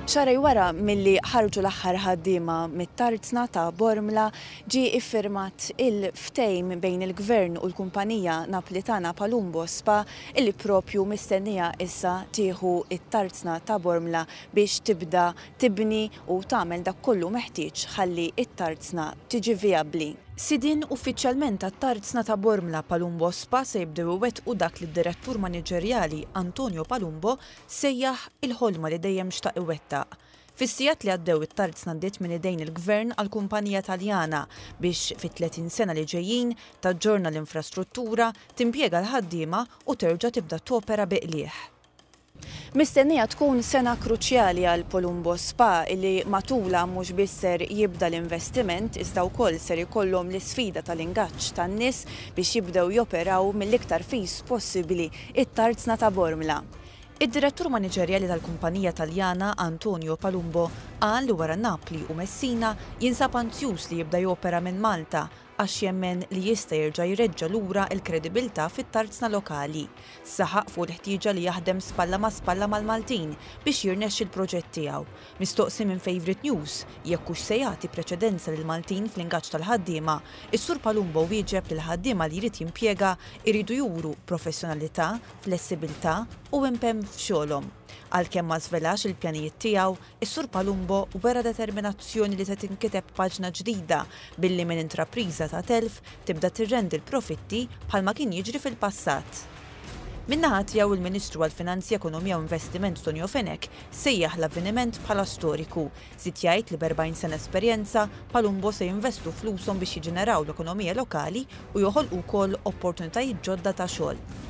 Xahrejn wara milli ħarġu l-aħħar ħaddiema mit-tarzna ta' Bormla, ġie iffirmat il-ftehim bejn il-Gvern u l-kumpanija Naplitana Palumbo Spa illi propju mistennija issa tieħu t-tarzna ta' Bormla biex tibda tibni u tagħmel dak kollu meħtieġ ħalli t-tarzna tiġi vijabbli. Sidien uffiċjalment tat-tarzna ta' Bormla Palumbo Spa se jibdew iwettqu dak li d-Direttur Maniġerjali Antonio Palumbo sejjaħ il-ħolma li dejjem xtaq iwettaq. Fis-sigħat li għaddew it-tarzna għaddiet minn idejn il-Gvern għal kumpanija Taljana biex fit-30 sena li ġejjin taġġorna l-infrastruttura, timpjega l-ħaddiema u terġa' tibda topera bi qligħ. Mistennija tkun sena kruċjali għal Palumbo Spa li matulha mhux biss ser jibda l-investiment iżda wkoll ser ikollhom l-isfida tal-ingaġġ tan-nies biex jibdew joperaw mill-iktar fis possibbli it-tarzna ta' Bormla. Id-Direttur Maniġerjali tal-kumpanija Taljana Antonio Palumbo qal li wara Napli u Messina jinsab anzjuż li jibda jopera minn Malta għax jemmen li jista' jerġa' jreġġa' lura l-kredibilità fit-tarzna lokali. Saħaq fuq il-ħtieġa li jaħdem spalla ma' spalla mal-Maltin biex jirnexxi l-proġett tiegħu. Mistoqsi minn Favourite News jekk hux se jagħti preċedenza lill-Maltin fl-ingaġġ tal-ħaddiema, is-Sur Palumbo wieġeb li l-ħaddiema li jrid jimpjega jridu juru professjonalità, flessibilità u impenn f'xogħolhom. Għalkemm ma żvelax il-pjanijiet tiegħu, is-Sur Palumbo wera determinazzjoni li se tinkiteb paġna ġdida billi minn intrapriża ta' telf tibda tirrendi l-profitti bħalma kien jiġri fil-passat. Min-naħa tiegħu il-Ministru għall-Finanzi, Ekonomija u Investiment Tonio Fenech sejjaħ l-avveniment bħala storiku. Żied jgħid li b'40 sena esperjenza, Palumbo se jinvestu flushom biex jiġġeneraw l-ekonomija lokali u joħolqu wkoll opportunitajiet ġodda ta' xogħol.